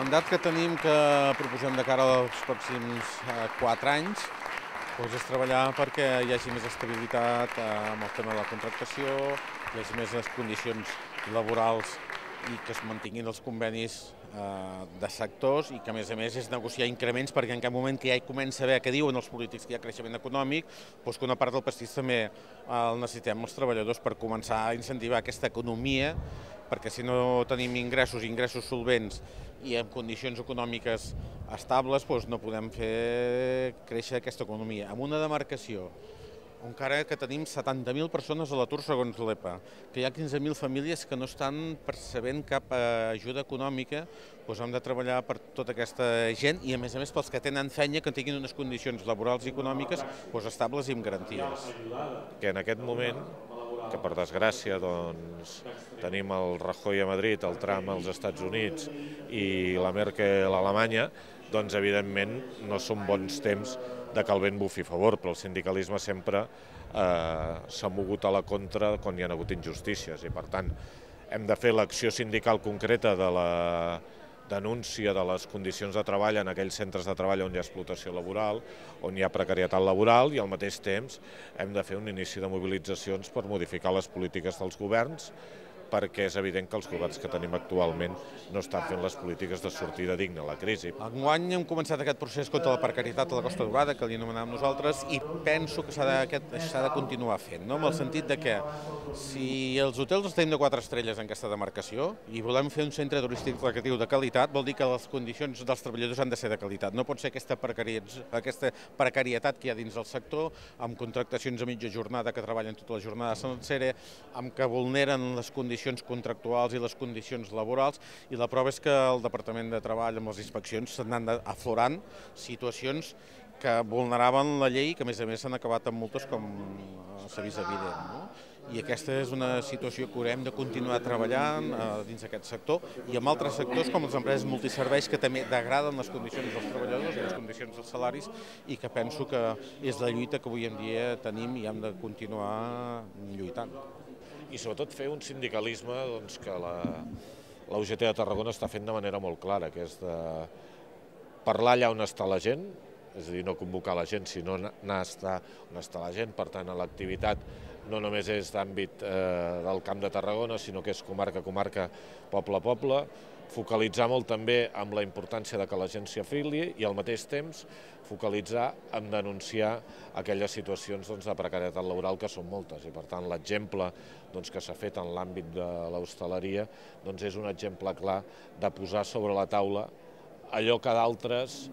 mandat que tenim, que proposem de cara als pròxims 4 anys, és treballar perquè hi hagi més estabilitat amb el tema de la contractació, hi hagi més condicions laborals i que es mantinguin els convenis de sectors i que, a més, és negociar increments perquè en cap moment que ja hi comença a haver, que diuen els polítics que hi ha creixement econòmic, doncs que una part del pastís també el necessitem els treballadors per començar a incentivar aquesta economia, perquè si no tenim ingressos solvents i en condicions econòmiques estables, doncs no podem fer créixer aquesta economia. En una demarcació encara que tenim 70.000 persones a l'atur segons l'EPA, que hi ha 15.000 famílies que no estan percebent cap ajuda econòmica, doncs hem de treballar per tota aquesta gent i, a més, pels que tenen feina, que tinguin unes condicions laborals i econòmiques estables i amb garanties. Que en aquest moment, que per desgràcia tenim el Rajoy a Madrid, el Trump als Estats Units i la Merkel a Alemanya, doncs evidentment no són bons temps de que el vent bufi a favor, però el sindicalisme sempre s'ha mogut a la contra quan hi ha hagut injustícies i, per tant, hem de fer l'acció sindical concreta de la denúncia de les condicions de treball en aquells centres de treball on hi ha explotació laboral, on hi ha precarietat laboral i al mateix temps hem de fer un inici de mobilitzacions per modificar les polítiques dels governs, perquè és evident que els governs que tenim actualment no estan fent les polítiques de sortida digna a la crisi. Enguany hem començat aquest procés contra la precarietat a la Costa Daurada, que li anomenàvem nosaltres, i penso que s'ha de continuar fent, no? En el sentit de que si els hotels els tenim de 4 estrelles en aquesta demarcació i volem fer un centre turístic recreatiu de qualitat, vol dir que les condicions dels treballadors han de ser de qualitat. No pot ser aquesta precarietat que hi ha dins del sector, amb contractacions a mitja jornada que treballen tota la jornada sencera, amb que vulneren les condicions contractuals i les condicions laborals, i la prova és que el Departament de Treball amb les inspeccions s'han aflorant situacions que vulneraven la llei i que, a més, s'han acabat amb multes, com s'ha vist evident, no? I aquesta és una situació que haurem de continuar treballant dins d'aquest sector i amb altres sectors com les empreses multiserveis, que també degraden les condicions dels treballadors i les condicions dels salaris, i que penso que és la lluita que avui en dia tenim i hem de continuar lluitant. I sobretot fer un sindicalisme que la UGT de Tarragona està fent de manera molt clara, que és de parlar allà on està la gent, és a dir, no convocar la gent, sinó anar a estar on està la gent. Per tant, l'activitat no només és d'àmbit del Camp de Tarragona, sinó que és comarca a comarca, poble a poble, focalitzar molt també amb la importància de que la gent s'hi afili i al mateix temps focalitzar en denunciar aquelles situacions de precarietat laboral, que són moltes, i per tant l'exemple que s'ha fet en l'àmbit de l'hostaleria és un exemple clar de posar sobre la taula allò que d'altres,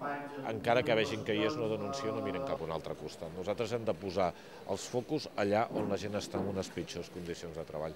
encara que vegin que hi és, no denuncien, no miren cap a un altre costat. Nosaltres hem de posar els focus allà on la gent està en unes pitjors condicions de treball.